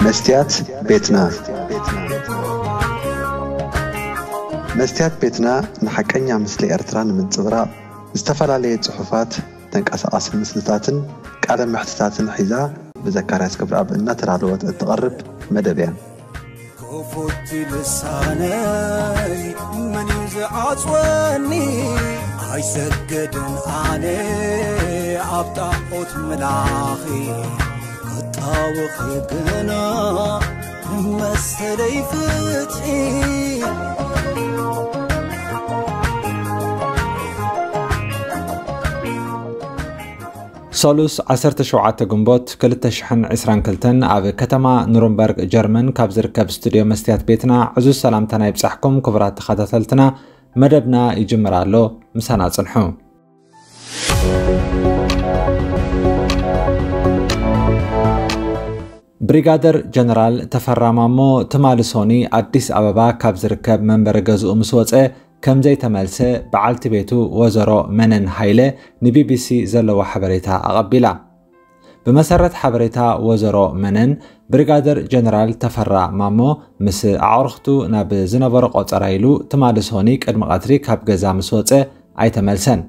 መስትያት ቤትና። መስትያት ቤትና ንሓቀኛ ምስሊ ኤርትራ ንምንጽብራቕ ዝተፈላለየ ጽሑፋት፣ ተንቀሳቓሲ ምስልታትን ቃለ መሕትታትን ሒዛ ብዘካርያስ ገብረኣብ እናተዳለወት እትቐርብ መደብ እያ። ክፉት ልሳነይ መን እዩ ዝዓጽወኒ? ኣይሰግድን ኣነ ኣብ ጣዖት ምላኺ፣ ክጣወኺ ግና መሰለይ ፍትሒ። ሰሉስ ዓሰርተ ሸውዓተ ግንቦት ክልተ ሽሕን ዕስራን ክልተን ኣብ ከተማ ኑርንበርግ ጀርመን ካብ ዝርከብ ስቱድዮ መስትያት ቤትና ዕዙዝ ሰላምታና ይብጻሕኩም ክቡራት ተኸታተልትና። መደብና ይጅምር ኣሎ፣ ምሳና ጽንሑ። ብሪጋደር ጀነራል ተፈራ ማሞ ትማሊ ሶኒ ኣዲስ ኣበባ ካብ ዝርከብ መንበሪ ገዝኡ ምስ ወጸ ከም ዘይተመልሰ በዓልቲ ቤቱ ወዘሮ መነን ሃይለ ንቢቢሲ ዘለዋ ሓበሬታ ኣቐቢላ። ብመሰረት ሓበሬታ ወዘሮ መነን፣ ብሪጋደር ጀነራል ተፈራ ማሞ ምስ ኣዕሩኽቱ ናብ ዝነበሮ ቆጸራ ኢሉ ትማሊ ሶኒ ቅድሚ ቀትሪ ካብ ገዛ ምስ ወጸ ኣይተመልሰን።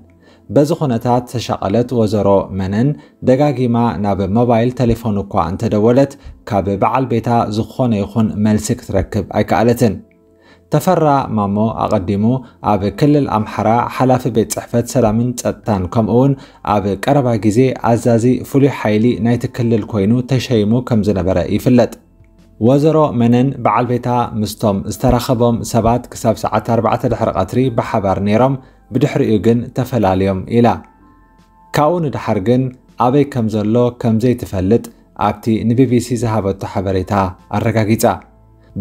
በዚ ኩነታት ተሻቐለት ወዘሮ መነን ደጋጊማ ናብ ሞባይል ቴሌፎን እኳ እንተደወለት ካብ በዓል ቤታ ዝኾነ ይኹን መልሲ ክትረክብ ኣይከኣለትን። ተፈራ ማሞ ኣቐዲሙ ኣብ ክልል ኣምሓራ ሓላፊ ቤት ጽሕፈት ሰላምን ጸጥታን ከምኡውን ኣብ ቀረባ ግዜ ኣዛዚ ፍሉይ ሓይሊ ናይቲ ክልል ኮይኑ ተሸይሙ ከም ዝነበረ ይፍለጥ። ወዘሮ መነን በዓል ቤታ ምስቶም ዝተራኸቦም ሰባት ክሳብ ሰዓት ኣርባዕተ ድሕሪ ቀትሪ ብሓባር ነይሮም፣ ብድሕሪኡ ግን ተፈላልዮም ኢላ። ካብኡ ንደሓር ግን ኣበይ ከም ዘሎ ከም ዘይትፈልጥ ኣብቲ ንቢቢሲ ዝሃበቶ ሓበሬታ ኣረጋጊጻ።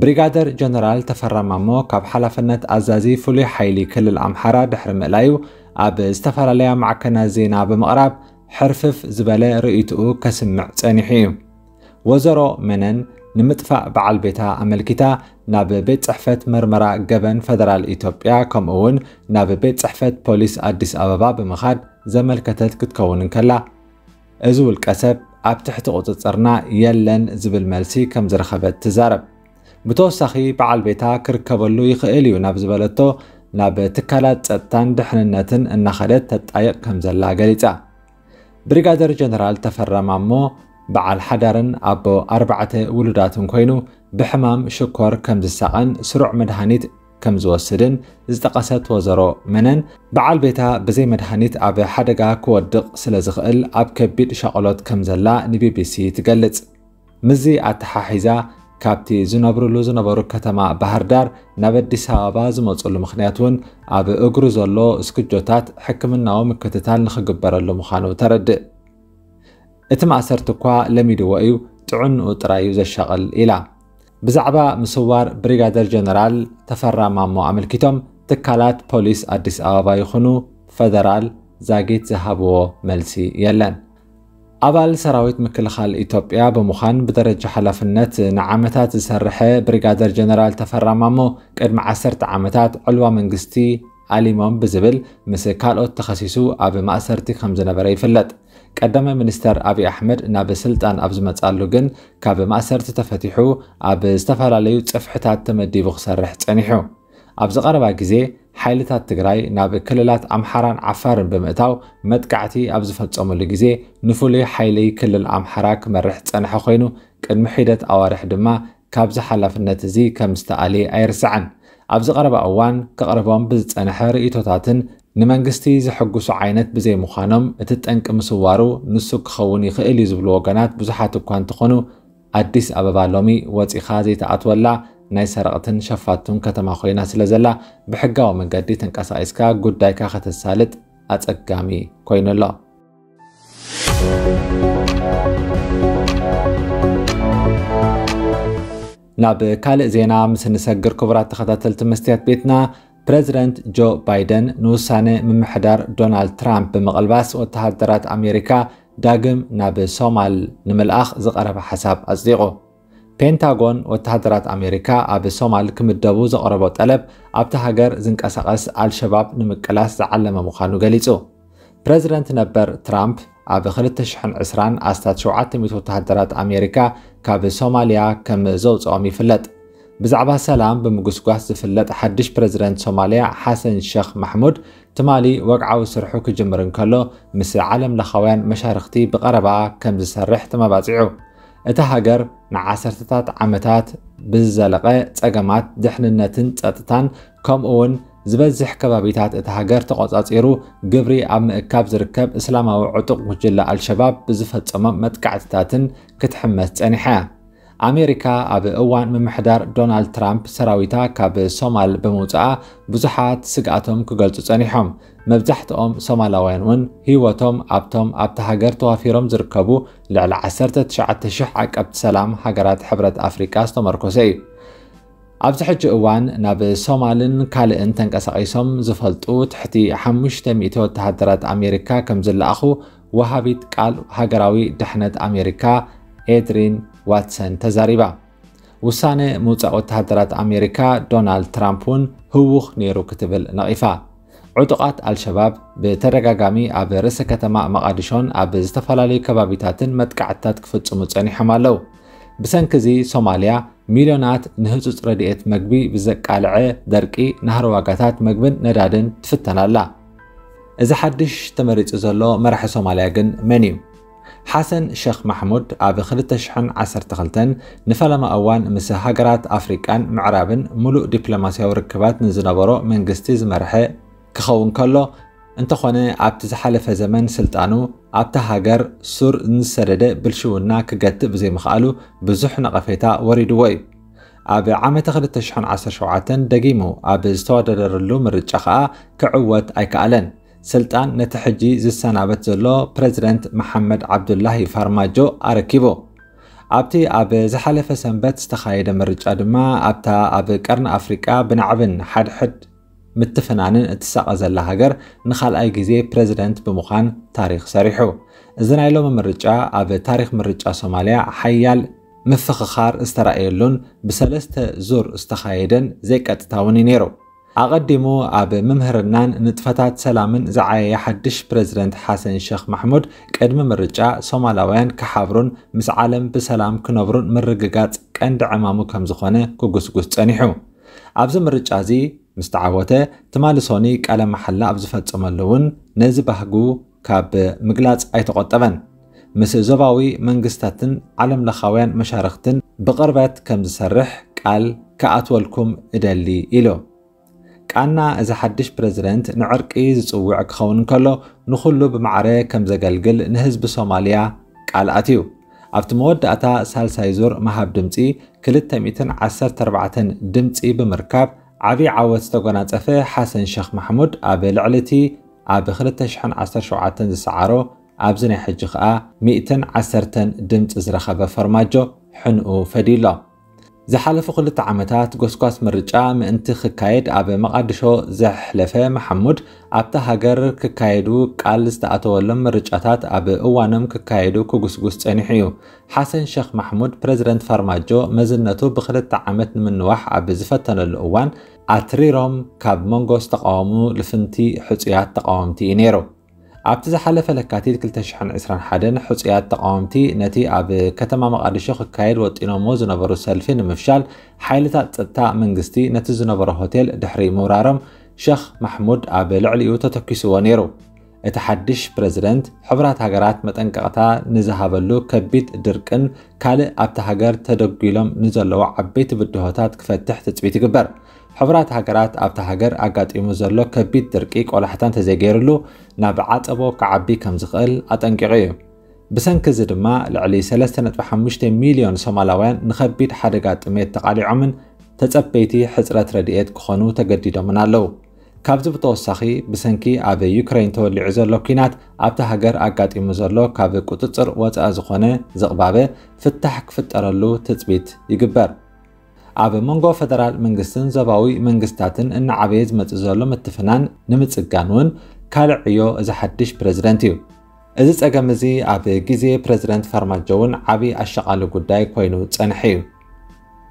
ብሪጋደር ጀነራል ተፈራ ማሞ ካብ ሓላፍነት ኣዛዚ ፍሉይ ሓይሊ ክልል ኣምሓራ ድሕሪ ምእላዩ ኣብ ዝተፈላለያ ማዕከናት ዜና ብምቕራብ ሕርፍፍ ዝበለ ርእይትኡ ከስምዕ ጸኒሑ እዩ። ወዘሮ መነን ንምጥፋእ በዓል ቤታ ኣመልኪታ ናብ ቤት ጽሕፈት መርመራ ገበን ፈደራል ኢትዮጵያ ከምኡ እውን ናብ ቤት ጽሕፈት ፖሊስ ኣዲስ ኣበባ ብምኻድ ዘመልከተት ክትከውን እንከላ፣ እዚ ውልቀ ሰብ ኣብ ትሕቲ ቁጽጽርና የለን ዝብል መልሲ ከም ዝረኸበት ትዛረብ። ብተወሳኺ በዓል ቤታ ክርከበሉ ይኽእል እዩ ናብ ዝበለቶ ናብ ትካላት ጸጥታን ድሕንነትን እናኸደት ተጣይቕ ከም ዘላ ገሊጻ። ብሪጋደር ጀነራል ተፈራ ማሞ በዓል ሓዳርን ኣቦ ኣርባዕተ ውሉዳትን ኮይኑ ብሕማም ሽኮር ከም ዝሳቐን ስሩዕ መድሃኒት ከም ዝወስድን ዝጠቐሰት ወዘሮ መነን፣ በዓል ቤታ ብዘይ መድሃኒት ኣብ ሓደጋ ክወድቕ ስለ ዝኽእል ኣብ ከቢድ ሻቕሎት ከም ዘላ ንቢቢሲ ትገልጽ። ምስዚ ኣተሓሒዛ፣ ካብቲ ዝነብርሉ ዝነበሩ ከተማ ባህር ዳር ናብ ኣዲስ ኣበባ ዝመጽሉ ምኽንያት እውን ኣብ እግሩ ዘሎ እስክጆታት ሕክምናዊ ምክትታል ንኽግበረሉ ምዃኑ ተረድእ። እቲ ማእሰርቲ እኳ ለሚድዎ እዩ፣ ጥዕንኡ ጥራይ እዩ ዘሻቕል ኢላ። ብዛዕባ ምስዋር ብሪጋደር ጀነራል ተፈራ ማሞ ኣመልኪቶም ትካላት ፖሊስ ኣዲስ ኣበባ ይኹኑ ፈደራል ዛጊት ዝሃብዎ መልሲ የለን። ኣባል ሰራዊት ምክልኻል ኢትዮጵያ ብምዃን ብደረጃ ሓላፍነት ንዓመታት ዝሰርሐ ብሪጋደር ጀነራል ተፈራ ማሞ ቅድሚ ዓሰርተ ዓመታት ዕልዋ መንግስቲ ኣሊሞም ብዝብል ምስ ካልኦት ተኸሲሱ ኣብ ማእሰርቲ ከም ዝነበረ ይፍለጥ። ቀዳማይ ሚኒስተር ኣብይ ኣሕመድ ናብ ስልጣን ኣብ ዝመጻሉ ግን ካብ ማእሰርቲ ተፈቲሑ ኣብ ዝተፈላለዩ ጽፍሕታት ተመዲቡ ክሰርሕ ጸኒሑ። ኣብዚ ቀረባ ግዜ ሓይልታት ትግራይ ናብ ክልላት ኣምሓራን ዓፋርን ብምእታው መጥቃዕቲ ኣብ ዝፈጸሙሉ ግዜ ንፍሉይ ሓይሊ ክልል ኣምሓራ ክመርሕ ዝጸንሐ ኮይኑ ቅድሚ ሒደት ኣዋርሕ ድማ ካብዚ ሓላፍነት እዚ ከም ዝተኣልየ ኣይርሳዕን። ኣብዚ ቀረባ እዋን ከቕርቦም ብዝጸንሐ ርእይቶታትን ንመንግስቲ ዘሐጉሱ ዓይነት ብዘይምዃኖም እቲ ጠንቂ ምስዋሩ ንሱ ክኸውን ይኽእል እዩ ዝብሉ ወገናት ብዙሓት እኳ እንተኾኑ ኣዲስ ኣበባ ሎሚ ወጺኻ ዘይትኣትወላ ናይ ሰረቕትን ሸፋቱን ከተማ ኮይና ስለ ዘላ ብሕጋዊ መንገዲ ተንቀሳቒስካ ጉዳይካ ከተሳልጥ ኣጸጋሚ ኮይኑ ኣሎ። ናብ ካልእ ዜና ምስ እንሰግር ክቡራት ተኸታተልቲ መስትያት ቤትና፣ ፕረዚደንት ጆ ባይደን ንውሳነ ምምሕዳር ዶናልድ ትራምፕ ብምቕልባስ ወተሃደራት ኣሜሪካ ዳግም ናብ ሶማል ንምልኣኽ ዝቐረበ ሓሳብ ኣጽዲቑ። ፔንታጎን ወተሃደራት ኣሜሪካ ኣብ ሶማል ክምደቡ ዘቕረቦ ጠለብ ኣብታ ሃገር ዝንቀሳቐስ ኣልሸባብ ንምቅላስ ዝዓለመ ምዃኑ ገሊጹ። ፕረዚደንት ነበር ትራምፕ ኣብ ክልተ ሽሕን ዕስራን ኣስታት ሸውዓተ ሚእቲ ወተሃደራት ኣሜሪካ ካብ ሶማልያ ከም ዘውፅኦም ይፍለጥ። ብዛዕባ ሰላም ብምጉስጓስ ዝፍለጥ ሓድሽ ፕረዚደንት ሶማልያ ሓሰን ሸኽ ማሕሙድ ትማሊ ወግዓዊ ስርሑ ክጅምር እንከሎ ምስ ዓለም ለኻውያን መሻርኽቲ ብቐረባ ከም ዝሰርሕ ተመባፂዑ። እታ ሃገር ንዓሰርተታት ዓመታት ብዝዘለቐ ጸገማት ድሕንነትን ጸጥታን ከምኡ እውን ዝበዝሕ ከባቢታት እታ ሃገር ተቖጻጺሩ ግብሪ ኣብ ምእካብ ዝርከብ እስላማዊ ዕጡቕ ጉጅለ ኣልሸባብ ብዝፈጸሞም መጥቃዕትታትን ክትሕመስ ጸኒሓ እያ። ኣሜሪካ ኣብ እዋን ምምሕዳር ዶናልድ ትራምፕ ሰራዊታ ካብ ሶማል ብምውፅኣ ብዙሓት ስግኣቶም ክገልጹ ጸኒሖም። መብዛሕትኦም ሶማላውያን እውን ህይወቶም ኣብቶም ኣብታ ሃገር ተዋፊሮም ዝርከቡ ልዕሊ ዓሰርተ ትሽዓተ ሽሕ ዓቀብቲ ሰላም ሃገራት ሕብረት ኣፍሪቃ ዝተመርኮሰ እዩ። ኣብዚ ሕጂ እዋን ናብ ሶማልን ካልእን ተንቀሳቒሶም ዝፈልጡ ትሕቲ ሓሙሽተ ሚእቲ ወተሃደራት ኣሜሪካ ከም ዝለኣኹ ወሃቢት ቃል ሃገራዊ ድሕነት ኣሜሪካ ኤድሪን ዋትሰን ተዛሪባ። ውሳነ ምውፃእ ወተሃደራት ኣሜሪካ ዶናልድ ትራምፕ እውን ህውኽ ነይሩ ክትብል ነቒፋ። ዕጡቓት ኣልሸባብ ብተደጋጋሚ ኣብ ርእሰ ከተማ መቓዲሾን ኣብ ዝተፈላለዩ ከባቢታትን መጥቃዕትታት ክፍጽሙ ጸኒሖም ኣለዉ። ብሰንኪ እዚ ሶማልያ ሚልዮናት ንህጹጽ ረድኤት መግቢ ብዘቃልዐ ደርቂ ናህሪ ዋጋታት መግብን ነዳድን ትፍተን ኣላ። እዚ ሓድሽ ተመሪጹ ዘሎ መራሒ ሶማልያ ግን መን እዩ? ሓሰን ሸኽ ማሕሙድ ኣብ ክልተ ሽሕን ዓሰርተ ክልተን ንፈለማ እዋን ምስ ሃገራት ኣፍሪቃን ምዕራብን ምሉእ ዲፕሎማስያዊ ርክባት ንዝነበሮ መንግስቲ ዝመርሐ ክኸውን ከሎ፣ እንተኾነ ኣብቲ ዝሓለፈ ዘመን ስልጣኑ ኣብታ ሃገር ሱር ንዝሰደደ ብልሽውና ክገትእ ብዘይምኽኣሉ ብዙሕ ነቐፌታ ወሪድዎ እዩ። ኣብ ዓመተ ክልተ ሽሕን ዓሰርተ ሸውዓተን ደጊሙ ኣብ ዝተወዳደረሉ ምርጫ ከኣ ክዕወት ኣይከኣለን። ስልጣን ነቲ ሕጂ ዝሰናበት ዘሎ ፕረዚደንት መሓመድ ዓብዱላሂ ፋርማጆ ኣረኪቡ። ኣብቲ ኣብ ዝሓለፈ ሰንበት ዝተኻየደ ምርጫ ድማ ኣብታ ኣብ ቀርኒ ኣፍሪቃ ብናዕብን ሓድሕድ ምትፍናንን እትሳቐ ዘላ ሃገር ንኻልኣይ ግዜ ፕረዚደንት ብምዃን ታሪኽ ሰሪሑ። እዚ ናይ ሎሚ ምርጫ ኣብ ታሪኽ ምርጫ ሶማልያ ሓያል ምፍኽኻር ዝተራእየሉን ብሰለስተ ዙር ዝተኻየደን ዘይቀጥታውን እዩ ነይሩ። ኣቐዲሙ ኣብ ምምህርናን ንጥፈታት ሰላምን ዝዓየየ ሓድሽ ፕረዚደንት ሓሰን ሸኽ ማሕሙድ ቅድሚ ምርጫ ሶማላውያን ክሓብሩን ምስ ዓለም ብሰላም ክነብሩን ምርግጋጽ ቀንዲ ዕማሙ ከም ዝኾነ ክጉስጉስ ጸኒሑ። ኣብዚ ምርጫ እዚ ምስ ተዓወተ ትማሊ ሶኒ ቃለ መሓላ ኣብ ዝፈጸመሉ እውን ነዚ ባህጉ ካብ ምግላጽ ኣይተቖጠበን። ምስ ዞባዊ መንግስታትን ዓለም ለኻውያን መሻርኽትን ብቕርበት ከም ዝሰርሕ ቃል ክኣትወልኩም እደሊ ኢሉ። ቃና እዚ ሓድሽ ፕረዚደንት ንዕርቂ ዝጽውዕ ክኸውን እንከሎ ንኹሉ ብማዕረ ከም ዘገልግል ንህዝቢ ሶማልያ ቃል ኣትዩ። ኣብቲ መወዳእታ ሳልሳይ ዙር ምሃብ ድምጺ ክልተ ሚእትን ዓሰርተ ኣርባዕተን ድምጺ ብምርካብ ዓብዪ ዓወት ዝተጎናጸፈ ሓሰን ሸኽ ማሕሙድ ኣብ ልዕሊ እቲ ኣብ ክልተ ሽሕን ዓሰርተ ሸውዓተን ዝሰዓሮ ኣብዚ ናይ ሕጂ ከኣ ሚእትን ዓሰርተን ድምጺ ዝረኸበ ፈርማጆ ሕንኡ ፈድዩ ኣሎ። ዝሓለፉ ክልተ ዓመታት ጎስጓስ ምርጫ ምእንቲ ክካየድ ኣብ መቓድሾ ዘሕለፈ መሓሙድ ኣብታ ሃገር ክካየዱ ቃል ዝተኣተወሎም ምርጫታት ኣብ እዋኖም ክካየዱ ክጉስጉስ ጸኒሑ እዩ። ሓሰን ሸኽ ማሕሙድ ፕረዚደንት ፋርማጆ መዝነቱ ብክልተ ዓመት ንምንዋሕ ኣብ ዝፈተነሉ እዋን ኣትሪሮም ካብ መንጎ ዝተቃወሙ ልፍንቲ ሕጹያት ተቃወምቲ እዩ ነይሩ። ኣብቲ ዝሓለፈ ለካቲት ክልተ ሽሕን ዕስራን ሓደን ሕጹያት ተቃወምቲ ነቲ ኣብ ከተማ መቓድሾ ክካየድ ወጢኖሞ ዝነበሩ ሰልፊ ንምፍሻል ሓይልታት ጸጥታ መንግስቲ ነቲ ዝነበሮ ሆቴል ድሕሪ ምውራሮም ሸኽ ማሕሙድ ኣብ ልዕሊኡ ተተኪስዎ ነይሩ። እቲ ሓድሽ ፕረዚደንት ሕቡራት ሃገራት መጠንቀቕታ ንዝሃበሉ ከቢድ ድርቅን ካልእ ኣብቲ ሃገር ተደጒሎም ንዘለዉ ዓበይቲ ብድሆታት ክፈትሕ ትጽቢት ይግበር። ሕቡራት ሃገራት ኣብታ ሃገር ኣጋጢሙ ዘሎ ከቢድ ድርቂ ቆላሕታ እንተዘይገይርሉ ናብ ዓጸቦ ክዓቢ ከም ዝኽእል ኣጠንቂቑ እዩ። ብሰንኪ እዚ ድማ ልዕሊ ሰለስተ ነጥቢ ሓሙሽተ ሚልዮን ሶማላውያን ንኸቢድ ሓደጋ ጥሜት ተቓሊዖምን ተጸበይቲ ሕጽረት ረድኤት ክኾኑ ተገዲዶምን ኣለዉ። ካብዚ ብተወሳኺ ብሰንኪ ኣብ ዩክረይን ተወሊዑ ዘሎ ኲናት ኣብታ ሃገር ኣጋጢሙ ዘሎ ካብ ቁጽጽር ወጻኢ ዝኾነ ዝቕባበ ፍታሕ ክፍጠረሉ ትጽቢት ይግበር። ኣብ መንጎ ፈደራል መንግስትን ዞባዊ መንግስታትን እናዓበየ ዝመጽእ ዘሎ ምትፍናን ንምጽጋን እውን ካልእ ዕዮ እዚ ሓድሽ ፕረዚደንት እዩ። እዚ ጸገም እዚ ኣብ ግዜ ፕረዚደንት ፋርማጆ እውን ዓቢ ኣሻቓሊ ጉዳይ ኮይኑ ጸንሐ እዩ።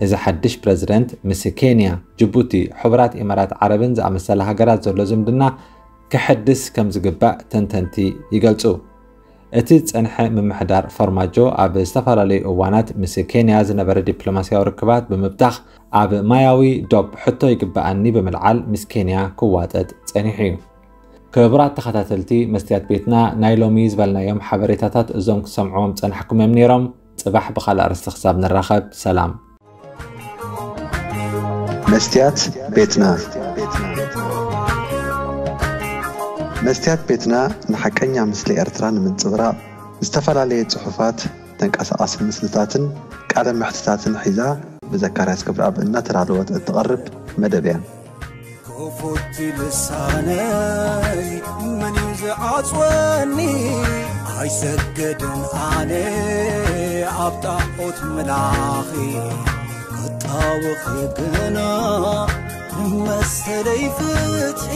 እዚ ሓድሽ ፕረዚደንት ምስ ኬንያ፣ ጅቡቲ፣ ሕቡራት ኢማራት ዓረብን ዝኣመሰላ ሃገራት ዘሎ ዝምድና ክሕድስ ከም ዝግባእ ተንተንቲ ይገልጹ። እቲ ዝጸንሐ ምምሕዳር ፎርማጆ ኣብ ዝተፈላለዩ እዋናት ምስ ኬንያ ዝነበረ ዲፕሎማስያዊ ርክባት ብምብታኽ ኣብ ማያዊ ዶብ ሕቶ ይግበኣኒ ብምልዓል ምስ ኬንያ ክዋጠጥ ጸኒሑ እዩ። ክቡራት ተኸታተልቲ መስትያት ቤትና፣ ናይ ሎሚ ዝበልናዮም ሓበሬታታት እዞም ክትሰምዕዎም ጸናሕኩም እዮም ነይሮም። ጽባሕ ብኻልእ ኣርእስቲ ክሳብ ንራኸብ፣ ሰላም። መስትያት ቤትና። መስትያት ቤትና ንሓቀኛ ምስሊ ኤርትራ ንምንጽብራቕ ዝተፈላለየ ጽሑፋት፣ ተንቀሳቓሲ ምስልታትን ቃለ መሕትታትን ሒዛ ብዘካርያስ ክብረኣብ እናተዳለወት እትቐርብ መደብ እያ። ክፉት ልሳነይ መን እዩ ዝዓጽወኒ? ኣይሰገድን ኣነ ኣብ ጣዖት ምላኺ፣ ክጣወኺ ግና መሰለይ ፍትሒ።